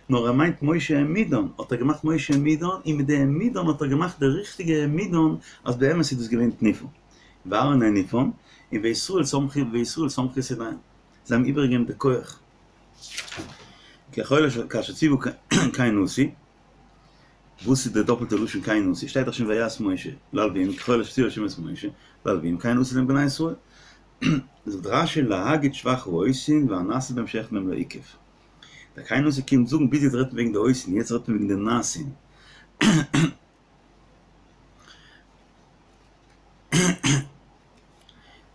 נאר ער מיינט משה העמידן, האט ער געמאכט משה העמידן, און מיט די העמידן האט ער געמאכט די ריכטיגע העמידן אז באמת איז דאס געווען תנופה, ואהרן הניפן, און וישראל סמכו וישראל סמכו את ידיהם. זיי האבן איבערגעגעבן די כח ככל אשר כאשר ציוה כן עשו, וואס איז די דאפלטע לשון כן עשו? שטייט דאך שוין ויעש משה ללווים ככל אשר ציווה השם את משה ללווים כן עשו להם בני ישראל. זאגט רש"י להגיד שבח העושין והנעשה בהם שאחד מהם לא עיכב. דער כן עשו קומט זאגן ביז יעצט רעדט מען וועגן די עושין יעצט רעדט מען וועגן די נעשין.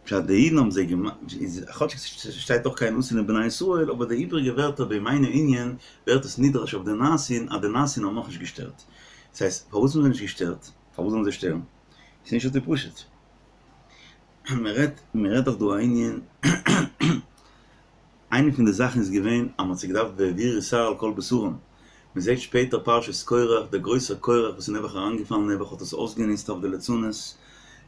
פשט די אידן האבן זיי געמאכט, כאטשיג ס'שטייט דאך כן עשו להם בני ישראל, אבער די איבריגע ווערטער בימינו ענין ווערט עס נדרש אויף די נעשין אז די נעשין האבן נאכנישט געשטערט. דאס הייסט, פארוואס האבן זיי נישט געשטערט? פארוואס זאלן זיי שטערן? ס'איז נישט אזוי פשוט. מ'רעדט מ'רעדט דאך דא א ענין, איינע פון די זאכן איז געווען אז מ'האט זיי געדארפט והעבירו שער על כל בשרם, מ'זעט שפעטער פרשת קורח, דער גרויסער קורח וואס איז נעבעך אריינגעפאלן נעבעך האט עס אויסגענוצט אויף די לצנות,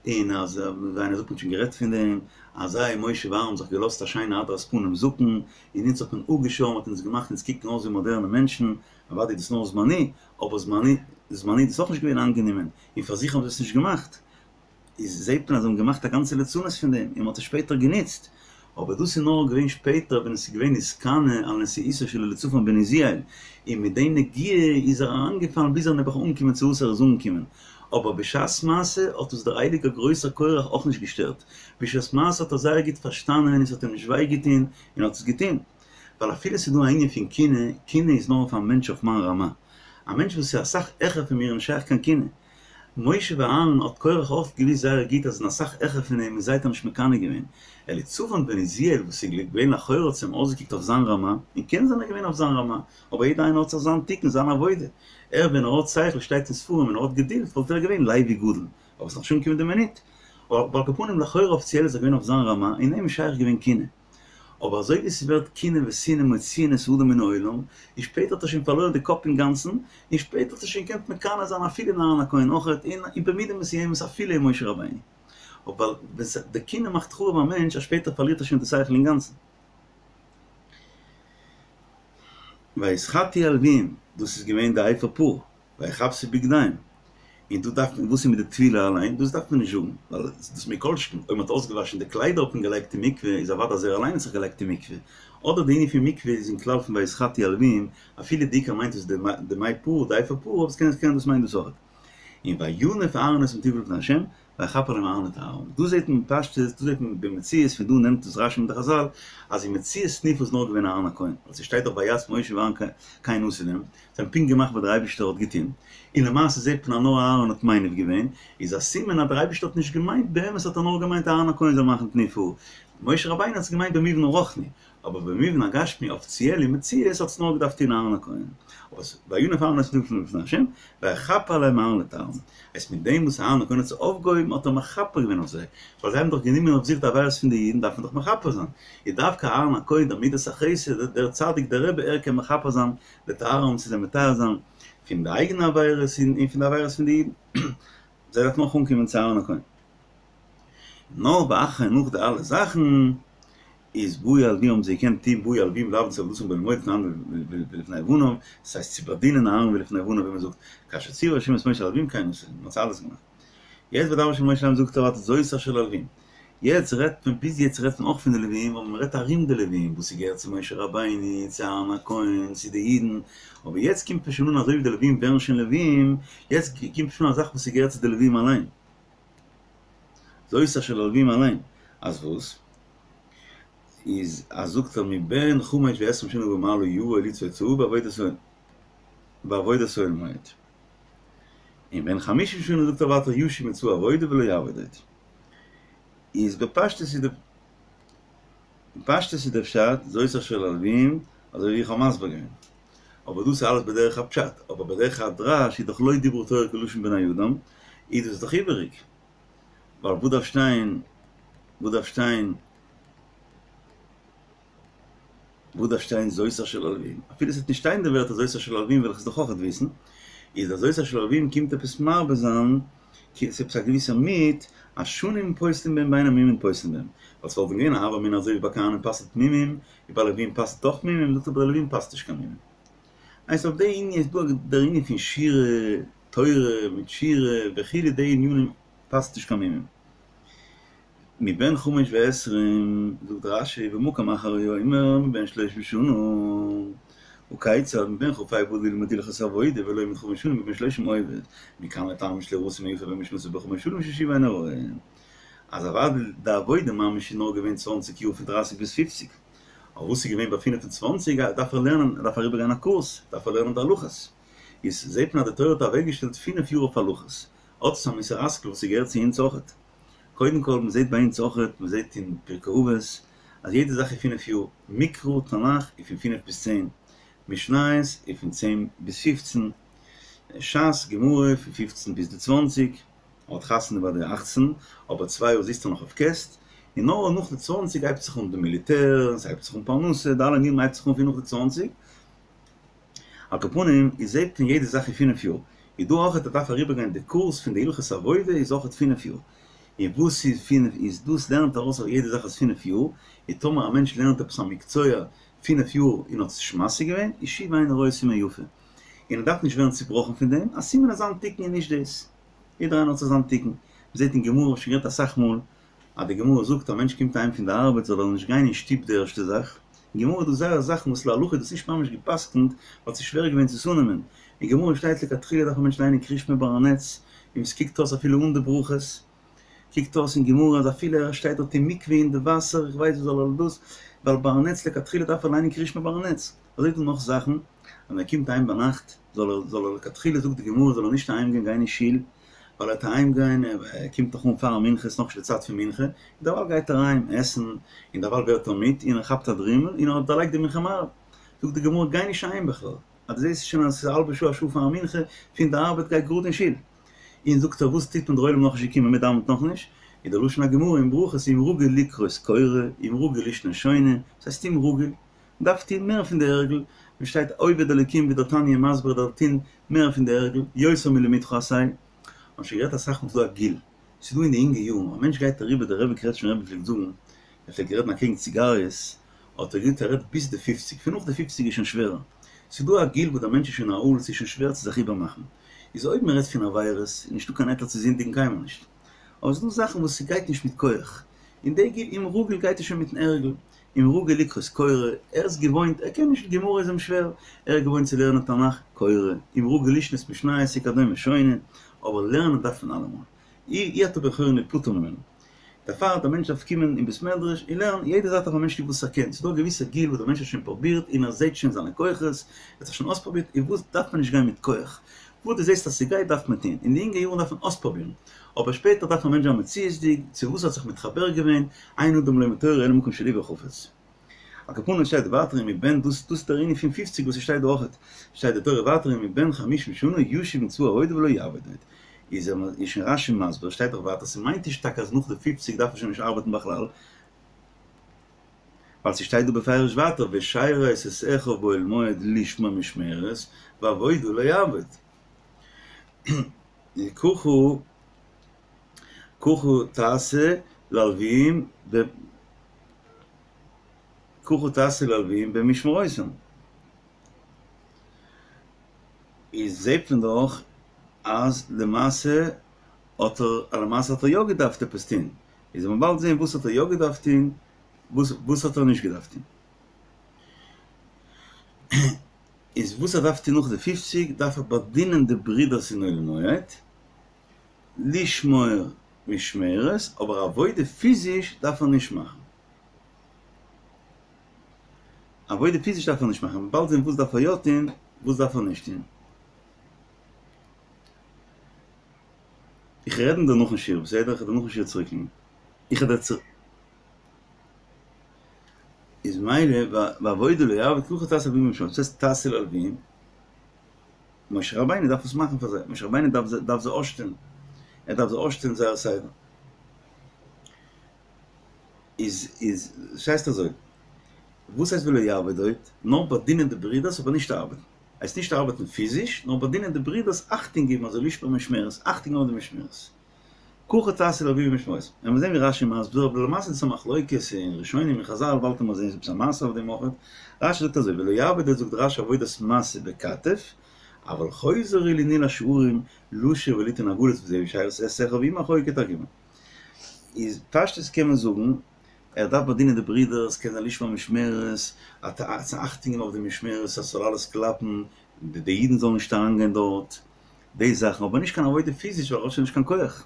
און אז ווי איינער זאגט מ'האט שוין גערעדט פון דעם, אז זיי משה ואהרן האבן זיך געלאזט א שיינע הדרת פנים זאקן, און אונז האט מען אפגעשארן מ'האט אונז געמאכט אונז קוקן אויס ווי מאדערנע מענטשן, אוודאי איז דאס נאר זמני, אבער זמני זמני איז דאס אויך נישט געווען איינגענומען, און פאר זיך האבן זיי עס נישט געמאכט. איז זעהט מען אז זיי האבן געמאכט א גאנצע לצנות פון דעם און מ'האט עס שפעטער גענוצט, אבער דאס איז נאר געווען שפעטער ווען עס איז געווען נתקנא על נשיאותו של אליצפן בן עוזיאל, און מיט די נגיעה איז ער אריינגעפאלן ביז ער נעבעך אנגעקומען צו וואס ער איז אנגעקומען, אבער בשעת מעשה האט עס דער הייליגער גרויסער קורח אויך נישט געשטערט, בשעת מעשה האט ער זייער גוט פארשטאנען און ס'האט אים נישט וויי געטון און האט עס געטון, ווייל אפילו ס'איז דא א ענין פון קנאה, קנאה איז נאר אויף א מענטש אויף מיין רמה, א מענטש וואס איז אסאך העכער פון מיר איז נישט שייך קיין קנאה. משה ואהרן האט קורח אויך געוויסט זייער גוט אז זענען אסאך העכער פון אים און זיי האט ער נישט מקנא געווען. אליצפן בן עוזיאל וואס איז געווען לכאורה האט עס אים אויסגעקוקט אויף זיין רמה, און קען זיין ער איז געווען אויף זיין רמה, אבער יעדער איינער האט זיך זיין תיקון זיין עבודה. ער ווען ער האט שכל שטייט אין ספרים און ער האט געדולד וואלט ער געווען לוי גדול, אבער ס'איז נאך נישט אנגעקומען די מינוט. אבער על כל פנים לכאורה אפיציעל איז ער געווען אויף זיין רמה און אים איז שייך געווען קנאה. אבער אזוי ווי ס'ווערט קנאה ושנאה מוציאין את האדם מן העולם, און שפעטער האט ער שוין פארלוירן די קאפ אינגאנצן, און שפעטער האט ער שוין געקענט מקנא זיין אפילו אין אהרן הכהן אויכעט, און במידה מסוימת אפילו אין משה רבינו. אבער ווייל די קנאה מאכט חרוב א מענטש אז שפעטער פארלירט ער שוין די שכל אינגאנצן. ויתחטאו הלוים, דאס איז געווען די אפר פרה, ויכבסו בגדיהם, און דא דארף מען, וואס איז מיט די טבילה אליין, דאס דארף מען נישט זאגן, ווייל דאס מכל שכן, אויב מען האט אויסגעוואשן די קליידער האט מען געלייגט אין מקווה, איז אוודאי אז ער אליין האט זיך געלייגט אין מקווה, אדער די ענין פון מקווה איז אין כלל פון ויתחטאו הלוים, אפילו די עיקר מיינט עס די מי פרה, די אפר פרה, אבער עס קען דאס מיינט דאס אויך. און וינף אהרן את המתיבתא לפני ה', ויכפר עליהם אהרן לטהרם. דא זעט מען בפשטות, דא זעט מען במציאות, פון דא נעמט עס רשי מיט די חזל, אז אין מציאות תנופה איז נאר געווען אהרן הכהן, ווייל ס'שטייט דאך ויעש משה ואהרן כן עשו להם, זיי האבן פונקט געמאכט וואס דער אייבערשטער האט געטון, און למעשה זעט מען אז נאר אהרן האט מניף געווען, איז א סימן אז דער אייבערשטער האט נישט געמיינט, באמת האט ער נאר געמיינט אהרן הכהן זאל מאכן תנופה, משה רבינו האט עס געמיינט במובן הרוחני, אבער במובן הגשמי אפיציעל אין מציאות האט עס נאר געדארפט טון אהרן הכהן. אבער וינף אהרן את המתיבתא לפני השם, ויכפר עליהם אהרן לטהרם. הייסט מיט דעם וואס אהרן הכהן האט זיי אויפגעהויבן האט ער מכפר געווען אויף זיי, ווייל זיי האבן דאך גענומען אויף זיך די עבירות פון די אידן דארף מען דאך מכפר זיין. איז דווקא אהרן הכהן דער מידת החסד, דער צדיק דער רבי ער קען מכפר זיין לטהרם צו זיי מטהר זיין פון די אייגענע עבירות און פון די עבירות פון די אידן. זיי דארפן אויך אנקומען צו אהרן הכהן. נאר ואחרי נאך די אלע זאכן איז באו הלוים האבן זיי געקענט טוהן באו הלוים לעבוד את עבודתם באהל מועד לפני אהרן ולפני בניו, דאס הייסט צו באדינען אהרן ולפני בניו ווי מען זאגט כאשר ציווה ה' את משה על הלוים כן עשו, מען האט אלעס געמאכט. יעצט וידבר ה' אל משה לאמר זאגט ער ווייטער זאת אשר ללוים. יעצט רעדט מען ביז יעצט רעדט מען אויך פון די לווים אבער מען רעדט ארום די לווים וואס ס'געהערט צו משה רבינו צו אהרן הכהן צו די אידן אבער יעצט קומט מען שוין אן אזוי ווי די לווים ווערן שוין לווים יעצט קומט שוין א זאך וואס ס'געהערט צו די לווים אליין. זאת אשר ללווים אליין, אז וואס? איז אז זאגט ער מבן חמש ועשרים שנה ומעלה יבא לצבוא צואה בעבודת אוהל בעבודת אוהל מועד. און בן חמישים שנה זאגט ער ווייטער ישוב מצואה עבודה ולא יעבוד עוד. איז בפשטות איז די בפשטות איז די פשט זאת אשר ללווים אזוי ווי איך האב מסביר געווען. אבער דאס איז אלעס בדרך הפשט, אבער בדרך הדרש איז דאך לא דיברה תורה כלשון בני אדם, איז דאס דאך איבעריג. ווייל וואס דארף שטיין, וואס דארף שטיין, וואס דארף שטיין זאת אשר ללווים? אפילו עס וועט נישט שטיין די ווערטער זאת אשר ללווים וועל איך עס דאך אויכעט וויסן, איז דער זאת אשר ללווים קומט עפעס מרבה זיין, ס'איז עפעס א געוויסע מיעוט, אז שנים פוסלין בהם ואין המומין פוסלין בהם. ווייל ס'וואלט ווען געווען א הוה אמינא אזוי ווי ביי כהנים פסל'ט מומים, ווי ביי לווים פסל'ט אויך מומים, זאגט ער ביי לווים פסל'ט נישט קיין מומים. הייסט אויף די ענין איז דא דער ענין פון שירה, תורה מיט שירה וכו' די ענינים פסל'ט נישט קיין מומים. מבן חמש ועשרים, זאגט רש"י במקום אחר הוא אומר מבן שלושים שנה, הכיצד מבן כ"ה בא ללמוד הלכות עבודה ולומד חמש שנים מבן שלושים עובד, מכאן לטהר משלו סימן יפה במשנתו בחמש שנים ששוב אינו רואה. אז אוודאי די עבודה ממש איז נאר געווען צוואנציג יאר פון דרייסיג ביז פופציג, אבער וואס איז געווען ביי פינף און צוואנציג דארף ער לערנען, ער דארף אריבער גיין א קורס, דארף ער לערנען די הלכות, איז זעט מען אז די תורה האט אוועק געשטעלט פינף יאר אויף הלכות, האט עס א מוסר השכל וואס ס'געהערט צו אונז אויכעט, קודם כל מען זעט ביי אונז אויכעט, מען זעט אין פרקי אבות אז יעדע זאך איז פינף יאר, מקרא תנך איז פון פינף ביז צען, משניות איז פון צען ביז פופצן, ש"ס גמרא פון פופצן ביז די צוואנציג. ער האט חתונה ביי די אכצן, אבער צוויי יאר זיצט ער נאך אויף קעסט, און נאר נאך די צוואנציג הייבט זיך אן די מיליטער, און ס'הייבט זיך אן פרנסה, די אלע ענינים הייבט זיך אן פון נאך די צוואנציג. על כל פנים, איז זעט מען יעדע זאך אין פינף יאר. איז דא אויכעט ער דארף אריבער גיין די קורס פון די הלכות עבודה איז אויכעט פינף יאר. און וואס איז פינף איז דאס לערנט ארויס אויף יעדע זאך איז פינף יאר, און טאמער א מענטש לערנט עפעס א מקצוע פינף יאר און האט עס נישט משיג געווען, איז שוב אינו רואה סימן יפה. און ער דארף נישט ווערן צובראכן פון דעם, א סימן אז זיין תיקון איז נישט דאס. יעדער איינער האט זיך זיין תיקון. מ'זעט אין גמרא, כ'האב שוין גערעדט אסאך מאל, אז די גמרא זאגט א מענטש קומט אהיים פון די ארבעט זאל ער נישט גיין אין שטוב די ערשטע זאך. אין גמרא איז דא זייער זאכן וואס להלכה איז דאס נישט ממש גע'פסק'נט ווייל ס'איז שווער געווען צו עס אננעמען. אין גמרא שטייט לכתחילה דארף א מענטש ליינען קריאת שמע ביי א נץ, און ס'קוקט אויס אפילו אן די ברכות. קוקט אויס אין גמרא אז אפילו ער שטייט דארט אין מקווה אין די וואסער, איך ווייס וואס זאל ער דאס, ווייל ביי א נץ לכתחילה דארף ער ליינען קריאת שמע ביי א נץ. אזוי איז דא נאך זאכן, אז ווען ער קומט אהיים ביינאכט זאל ער זאל ער לכתחילה זאגט די גמרא זאל ער נישט אהיים גיין גיין אין שול, ווייל ער וועט אהיים גיין ער קומט דאך אן פאר מנחה ס'איז נאכנישט די צייט פון מנחה, און דערווייל גייט ער אהיים עסן, און דערווייל ווערט ער מיד און ער כאפט א דרימל און ער האט דערלייגט די מנחה מעריב. זאגט די גמרא גיי נישט אהיים בכלל, אז דו זעסט שוין אז עס איז א האלבע שעה א שעה פאר מנחה פון די ארבעט גיי גראד אין שול. און זאגט ער וואס טוט מען דער עולם נאכנישט געקומען מען דאווענט נאכנישט, איז דער לשון הגמרא אין ברכות אם רגיל לקרות קורא אם רגיל לישנה שונה, וואס הייסט אם רגיל? מ'דארף טון מער פון די הרגל, ווי שטייט עובד אלקים ווי דער תניא מסביר דארף טון מער פון די הרגל, יותר מלימודך עשה, מ'האט שוין גערעדט אסאך מאל ס'דא א גיל, ס'איז דא אין די אינגע יארן, א מענטש גייט אריבער, דער רבי קרעטשמער רבי פלעגט זאגן, ער פלעגט רעדן אקעגן ציגאריעס, האט ער געזאגט ער רעדט ביז די פופציג, פון נאך די פופציג איז שוין שווערער, ס'איז דא א גיל וואס דער מענטש איז שוין א ערל, ס'איז שוין שווער צו זיך איבערמאכן, איז אויב מען רעדט פון עבירות, איז נישטא קיין היתר צו זינדיגן קיינמאל נישט, אבער ס'איז דא זאכן וואס ס'גייט נישט מיט כח, אין די גיל אם רגיל גייט עס שוין מיטן הרגל, אם רגיל לקרות קורא, ער איז געוואוינט, ער קען נישט, גמרא איז אים שווער, ער איז געוואוינט צו לערנען תנך, קורא, אם רגיל לשנות משניות וכדומה שונה, אבער לערנען דארף מען אלעמאל, אי אי אתה בן חורין להיפטר ממנו. דערפאר דער מענטש דארף קומען אין בית מדרש און לערנען, יעדע זאך דארף א מענטש טון וואס ער קען, ס'איז דא א געוויסע גיל וואס דער מענטש האט שוין פרובירט און ער זעט שוין זיינע כוחות, ער האט זיך שוין אויספרובירט, און וואס דארף מען נישט גיין מיט כח, וואס דו זעסט אז ס'גייט דארף מען טון, אין די אינגע יארן דארף מען אויספרובירן, אבער שפעטער דארף א מענטש זיין מציאות'דיג, צו וואס ער האט זיך מתחבר געווען, אין אדם לומד תורה אלא במקום שלבו חפץ. על כל פנים שטייט ווייטער אם מבן דאס דאס איז דער ענין פון פופציג וואס ס'שטייט דא אויכעט, שטייט די תורה ווייטער אם מבן חמישים שנה ישוב מצבא העבודה ולא יעבוד עוד, איז ער איז שוין רש"י מסביר שטייט דאך ווייטער ס'מיינט נישט טאקע אז נאך די פופציג דארף ער שוין נישט ארבעטן בכלל, ווייל ס'שטייט דא בפירוש ווייטער ושרת את אחיו באוהל מועד לשמור משמרת ועבודה לא יעבוד. ככה ככה תעשה ללוויים ב ככה תעשה ללוויים במשמרותם. איז זעהט מען דאך אז למעשה האט ער למעשה האט ער יא געדארפט עפעס טוהן. איז וועט מען באלד זעהן וואס האט ער יא געדארפט טוהן וואס האט ער נישט געדארפט טוהן. איז וואס ער דארף טוהן נאך די פופציג דארף ער באדינען די ברידערס אין אוהל מועד, לשמור משמרת, אבער עבודה פיזיש דארף ער נישט מאכן. עבודה פיזיש דארף ער נישט מאכן, באלד זען וואס דארף ער יא טוהן, וואס דארף ער נישט טוהן. איך רעד דיר נאכן שיעור, בסדר? איך וועל דיר נאכן שיעור צוריקקומען. איך וועל דיר צו. איז מילא ועבודה לא יעבוד ככה תעשה ללוויים במשמרותם, וואס הייסט תעשה ללוויים? משה רבינו דארף עס מאכן פאר זיי, משה רבינו דארף דארף זיי אויסשטעלן, ער דארף זיי אויסשטעלן זייער סדר. איז איז ס'הייסט אזוי, וואס הייסט ולא יעבוד עוד? נאר באדינען די ברידערס אבער נישט ארבעטן. הייסט נישט ארבעטן פיזיש, נאר באדינען די ברידערס אכטונג געבן אזוי לשמור משמרת, אכטונג געבן אויף די משמרת. ככה תעשה ללוויים במשמרותם. וועלן מיר זען ווי רש"י מסביר, אבער למעשה איז דאס א מחלוקת אין ראשונים און חזל, באלד וועלן מיר זען עפעס א מעשה אויף דעם אויך. רש"י זאגט אזוי, ולא יעבוד עוד זאגט רש"י עבודת משא בכתף, אבל חוזר הוא לנעול השערים, לשיר וליתן עגלות וזהו ושרת את אחיו עם אחוי כתרגומו. איז פשטות קען מען זאגן, ער דארף באדינען די ברידערס, קען זיין לשמור משמרת, אכטונג געבן אויף די משמרת אז ס'זאל אלעס קלאפן, די אידן זאלן נישט אריינגיין דארט, די זאכן, אבער נישט קיין עבודה פיזיש ווייל ער האט שוין נישט קיין כח.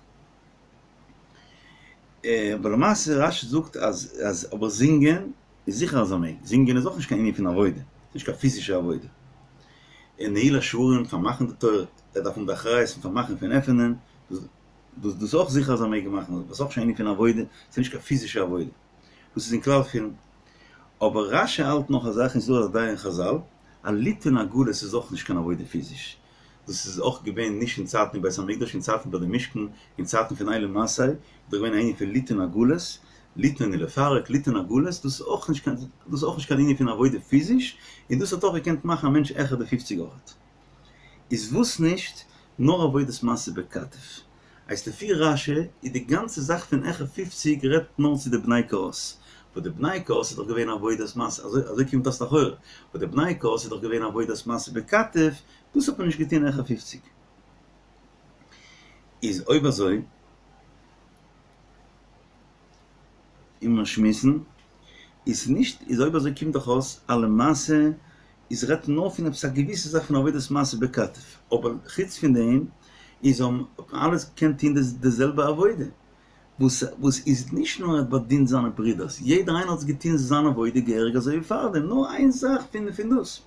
אבער למעשה רש"י זאגט אז אז אבער זינגען איז זיכער אז ער מעג, זינגען איז אויך נישט קיין ענין פון עבודה, ס'נישט קיין פיזישע עבודה. און נעילת שערים, פארמאכן די טויער, ער דארף האבן די אחריות פון פארמאכן פון עפענען, דאס איז אויך זיכער אז ער מעג מאכן, דאס איז אויך נישט קיין ענין פון עבודה, ס'איז נישט קיין פיזישע עבודה. דאס איז אין כלל פון. אבער רש"י האלט נאך א זאך און ס'איז דא א דעה אין חזל, אז ליתן עגלות איז אויך נישט קיין עבודה פיזיש. דאס איז אויך געווען נישט אין צייטן אין בית המקדש, אין צייטן ביי די משכן, אין צייטן פון אילי מסעי, איז דאך געווען א ענין פון ליתן עגלות, ליתן און לפרק, ליתן עגלות, דאס איז אויך נישט קיין, דאס איז אויך נישט קיין ענין פון עבודה פיזיש, און דאס האט אויך געקענט מאכן א מענטש העכער די פופציג אויכעט. איז וואס נישט נאר עבודת משא בכתף. הייסט לפי רש"י איז די גאנצע זאך פון העכער פופציג רעדט נאר צו די בני קהת, וואס די בני קהת איז דאך געווען עבודת משא, אזוי אזוי קומט אויס לכאורה, וואס די בני קהת איז דאך געווען עבודת משא בכתף, דאס האט מען נישט געטון העכער פופציג. איז אויב אזוי און מיר שמועסן איז נישט איז אויב אזוי קומט דאך אויס אז למעשה איז רעדט נאר פון עפעס א געוויסע זאך פון עבודת משא בכתף, אבער חוץ פון דעם איז האבן אלעס געקענט טון די זעלבע עבודה, וואס וואס איז נישט נאר ער האט באדינט זיינע ברודערס, יעדער איינער האט געטון זיין עבודה געהעריג אזוי ווי פארדעם, נאר איין זאך פון פון דאס.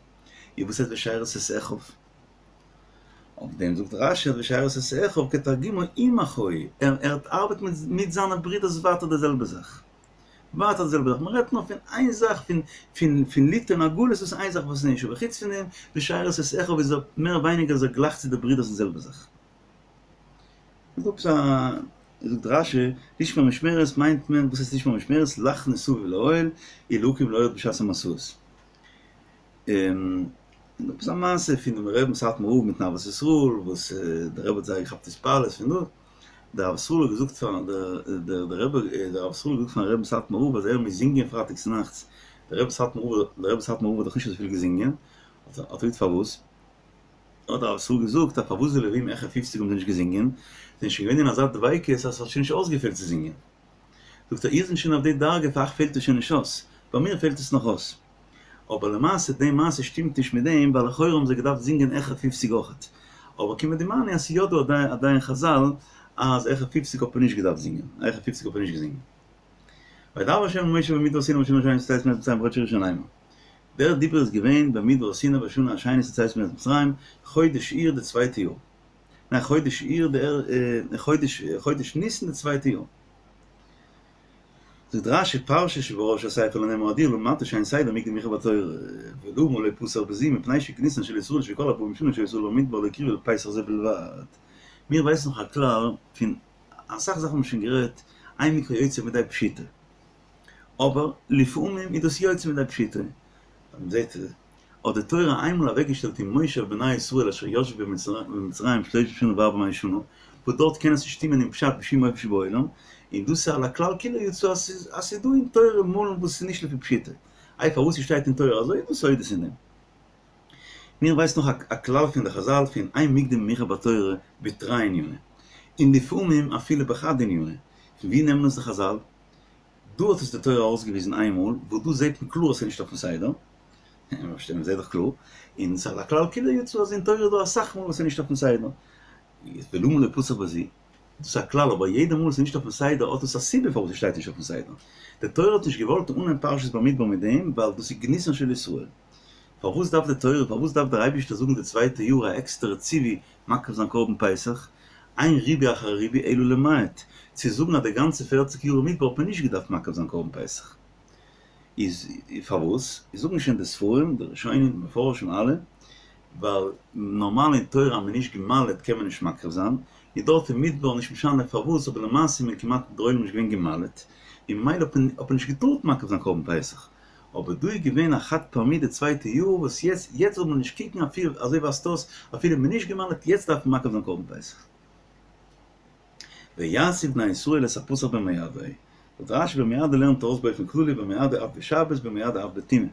איז וואס הייסט ושרת את אחיו? אויף דעם זאגט רש"י ושרת את אחיו כתרגומו עם אחוי, ער האט ארבעט מיט זיינע ברודערס ווייטער די זעלבע זאך. ווייטער די זעלבע זאך, מען רעדט נאר פון איין זאך פון פון פון ליתן עגלות דאס איז איין זאך וואס נישט, אבער חוץ פון דעם ושרת את אחיו איז ער מער ווייניגער אזוי גלייך צו די ברידערס די זעלבע זאך. איז דא עפעס א, זאגט רש"י, לשמור משמרת מיינט מען, וואס הייסט לשמור משמרת? לחנות סביב לאוהל, ולהקים לאור בשעת המסעות. און דא עפעס א מעשה פון דעם רבי'ן סאטמאר רב מיטן אהבת ישראל וואס דער רבי האט זייער געכאפט התפעלות פון דאס. דער רב ישראל האט געזאגט פאר דער דער רבי דער רב ישראל האט געזאגט פארן רבין סאטמאר רב אז ער מוז זינגען פרייטאג צונאכטס, דער רבי סאטמאר רב דער רבי סאטמאר רב האט דאך נישט אזויפיל געזינגען, האט ער געזאגט פארוואס? האט דער רב ישראל געזאגט אז פארוואס די לווים העכער פופציג האבן זיי נישט געזינגען, זענען שוין געווען אין אזא דביקות אז עס האט שוין נישט אויסגעפעלט צו זינגען. זאגט ער איר זענט שוין אויף די דרגה פאר אייך פעלט עס שוין נישט אויס, ביי מיר פעלט עס נאך אויס. אבער למעשה די מעשה שטימט נישט מיט דעם ווייל לכאורה האבן זיי געדארפט זינגען העכער פופציג אויכעט. אבער כמדומני אז ס'איז יא דא א דעה אין חזל אז העכער פופציג האט מען נישט געדארפט זינגען, העכער פופציג האט מען נישט געזינגען. וידבר ה' אל משה במדבר סיני בשנה השנית לצאתם מארץ מצרים בחודש הראשון לאמר. דער דיבור איז געווען במדבר סיני בשנה השנית לצאתם מארץ מצרים, חודש אייר די צווייטע יאר. ניין חודש אייר די חודש חודש ניסן די צווייטע יאר. זאגט רשי פרשה שבראש הספר לא נאמרה עדיה למדת שאין סדר מוקדם ומאוחר בתורה ולמה לא פתח בזו מפני שגנותן של ישראל שכל ארבעים שנה שהיו ישראל במדבר לא הקריבו אלא פסח זה בלבד. מיר ווייסן נאך א כלל פון אסאך זאכן האבן מיר שוין גערעדט אין מקרא יוצא מידי פשוטו אבער לפעמים איז דאס יוצא מידי פשוטו מ'זעט האט די תורה איינמאל אוועקגעשטעלט אין מושב בני ישראל אשר ישבו במצרים שלושים שנה וארבע מאות שנה, וואס דארט קען עס נישט שטימען אין פשט בשום אופן שבעולם, און דאס איז על הכלל כולו יצא אז ס'איז דא אין תורה מאלן וואס איז נישט לפי פשוטו. איי פארוואס ס'שטייט אין תורה אזוי איז דא סודות אין דעם. מיר ווייסן נאך א כלל פון די חזל פון אין מוקדם ומאוחר בתורה בתרי עניני, און לפעמים אפילו בחד ענינא, פון ווי נעמען עס די חזל? דא האט עס די תורה ארויסגעוויזן איינמאל, וואס דא זעט מען קלאר אז ס'איז נישט אויפן סדר, מען זעט דאך קלאר, און ס'איז על הכלל כולו יצא אז אין תורה איז דא אסאך מאל וואס ס'איז נישט אויפן סדר, ולמה לא פתח בזו, דאס איז א כלל, אבער יעדע מאל ס'איז נישט אויפן סדר האט עס א סיבה פארוואס ס'שטייט נישט אויפן סדר. די תורה האט נישט געוואלט אנהייבן פרשת במדבר מיט דעם ווייל דאס איז גנותן של ישראל. פארוואס דארף די תורה, פארוואס דארף דער אייבישטער זאגן די צווייטע יאר א עקסטערע ציווי מקריב זיין קרבן פסח, אין ריבוי אחר ריבוי אלא למעט, צו זאגן אז די גאנצע פערציג יאר אין מדבר האט מען נישט געדארפט מקריב זיין קרבן פסח. איז פארוואס? זאגן שוין די ספרים, די ראשונים, די מפרשים אלע, ווייל נארמאל אין תורה אז מען איז נישט גע'מל'עט קען מען נישט מקריב זיין, איז דארט אין מדבר נישט משנה פארוואס אבער למעשה איז מען כמעט דער עולם נישט געווען גע'מל'עט, און ממילא האט מען נישט געטארט מקריב זיין קרבן פסח. אבער דא איז געווען א חד פעמי די צווייטע יאר וואס יעצט יעצט זאל מען נישט קוקן אפילו אזוי ווייזט אויס אפילו מען איז נישט גע'מל'עט יעצט דארף מען מקריב זיין קרבן פסח. ויעשו בני ישראל את הפסח במועדו, זאגט רשי במועדו לערנט ארויס באופן כללי במועדו אף בשבת במועדו אף בטומאה,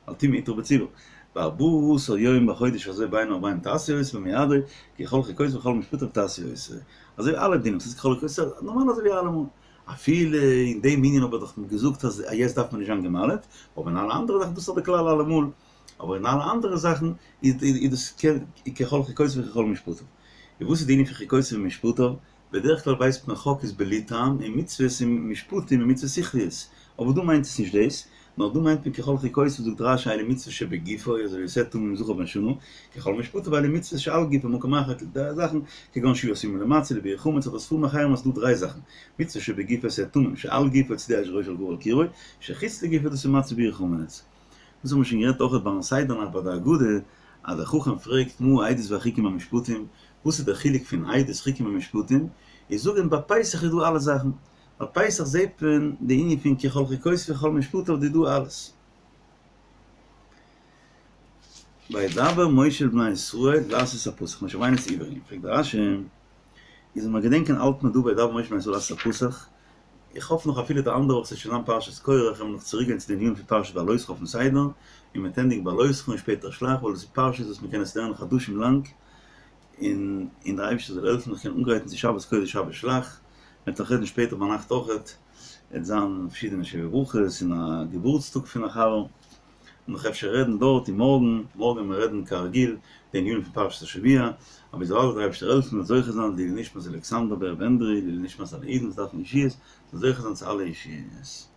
ווייל טומאה הותרה בציבור, בארבעה עשר יום בחודש הזה בין הערבים תעשו אותו במועדו, ככל חוקותיו וככל משפטיו תעשו אותו, אזוי אלע דינים, ס'איז ככל חוקותיו, נארמאל אזוי ווי אלעמאל. אפילו אין דעם ענין האב איך דאך געזאגט אז יעצט דארף מען נישט זיין גע'מל'עט, אבער אין אלע אנדערע זאכן, דאס איז דאך די כלל אלעמאל, אבער אין אלע אנדערע זאכן איז דאס ככל חוקותיו וככל משפטיו. און וואס איז די ענין פון חוקותיו ומשפטיו? בדרך כלל ווייסט מען חק איז בלי טעם און מצוות און משפטים און מצוות שכליות, אבער דא מיינט עס נישט דאס, נאר דא מיינט מען ככל חוקותיו זאגט רש"י אלו מצוות שבגופו אזוי ווי שה תמים זכר בן שנה, ככל משפטיו אלו מצוות שעל גופו מקום אחר די זאכן כגון שהיית אמה למצה לביעור חמץ אדער ספרים אחרים אז ס'דא דריי זאכן מצוה שבגופו שה תמים שעל גופו צידה אש ראשו על גבי על קרבו שחוץ לגופו דאס איז מצה ביעור חמץ. דאס האבן מיר שוין גערעדט אויכעט ביים סדר נאכט ביי די הגדה אז דער חכם פרעגט מה העדות והחוקים והמשפטים וואס איז דער חילוק פון עדות חוקים און משפטים איז זאגען ביי פסח איז דא אלע זאכן ביי פסח זעהט מען די ענין פון ככל חוקותיו וככל משפטיו איז דא אלעס. וידבר משה אל בני ישראל לעשות את הפסח, משה רבינו איז איבערגעגאנגען, פרעגט דער רשי, איז מיר געדענקען האלט מען דא וידבר משה אל בני ישראל לעשות את הפסח, איך האף נאך אפילו די אנדערע וואך ס'וועט שוין זיין פרשת קרח וועלן מיר נאך צוריק גיין צו די ענינים פון פרשת בהעלותך אויפן סדר, און מ'וועט ענדיגן בהעלותך און שפעטער שלח, ווייל דאס איז פרשיות וואס מ'קען עס לערנען חדשים לאנג, און און דער אייבערשטער זאל העלפן איך קען אנגרייטן צו שבת קודש שבת שלח, מ'וועט נאך רעדן שפעטער ביינאכט אויכעט, עט זיין פארשידענע שבע ברכות און א געבורטסטאג פון א חבר. נאך אפשר רעדן דארט און מארגן, מארגן וועלן מיר רעדן כרגיל די ענינים פון פרשת השבוע, אבער זאל דער אייבערשטער העלפן מ'זאל זוכה זיין לעילוי נשמת אלכסנדר ב ר בענדרי, לעילוי נשמת אלע אידן וואס דארפן ישועות, זאל זוכה זיין צו אלע ישועות.